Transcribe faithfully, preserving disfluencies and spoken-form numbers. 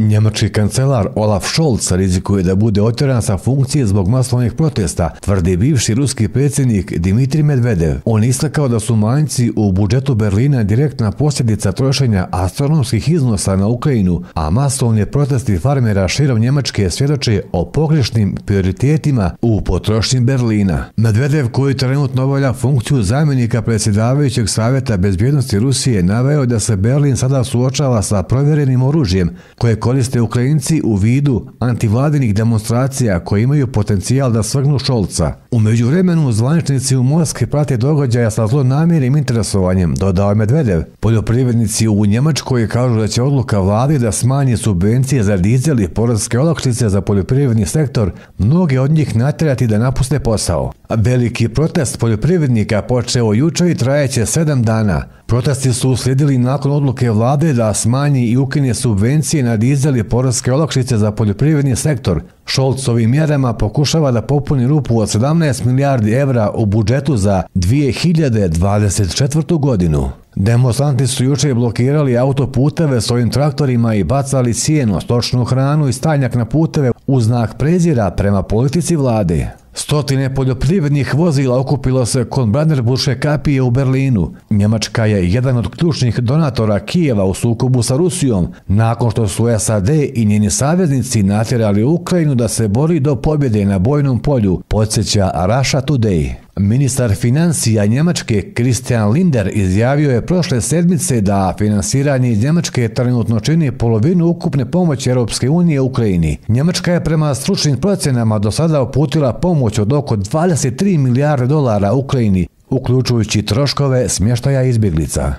Njemački kancelar Olaf Scholz rizikuje da bude otjeran sa funkcije zbog masovnih protesta, tvrdi bivši ruski predsjednik Dmitrij Medvedev. On istakao da su manjci u budžetu Berlina direktna posljedica trošenja astronomskih iznosa na Ukrajinu, a masovni protesti farmera širom Njemačke svjedoče o pogrešnim prioritetima u potrošnji Berlina. Medvedev, koji trenutno obavlja funkciju zamjenika predsjedavajućeg savjeta bezbjednosti Rusije, naveo da se Berlin sada suočava sa provjerenim oružjem koje koriste Ukrajinci u vidu antivladinih demonstracija koje imaju potencijal da svrgnu Scholza. U međuvremenu zvaničnici u Moskvi prate događaja sa zlonamjernim interesovanjem, dodao je Medvedev. Poljoprivrednici u Njemačkoj kažu da će odluka vlade da smanji subvencije za dizel i poreske olakšice za poljoprivredni sektor mnoge od njih natjerati da napuste posao. Veliki protest poljoprivrednika počeo jučer i trajeće sedam dana. Protesti su uslijedili nakon odluke vlade da smanji i ukine subvencije na dizel i poreske olakšice za poljoprivredni sektor. Scholz ovim mjerama pokušava da popuni rupu od sedamnaest milijardi evra u budžetu za dvije hiljade dvadeset četvrtu. godinu. Demonstranti su jučer blokirali autoputeve svojim traktorima i bacali sjeno, stočnu hranu i stajnjak na puteve u znak prezira prema politici vlade. Stotine poljoprivrednih vozila okupilo se kod Brandenburške kapije u Berlinu. Njemačka je jedan od ključnih donatora Kijeva u sukobu sa Rusijom, nakon što su S A D i njeni saveznici natjerali Ukrajinu da se bori do pobjede na bojnom polju, podsjeća Russia Today. Ministar financija Njemačke Christian Lindner izjavio je prošle sedmice da finansiranje iz Njemačke trenutno čini polovinu ukupne pomoći Europske unije Ukrajini. Njemačka je prema stručnim procjenama do sada uputila pomoć od oko dvadeset tri milijarde dolara Ukrajini, uključujući troškove smještaja izbjeglica.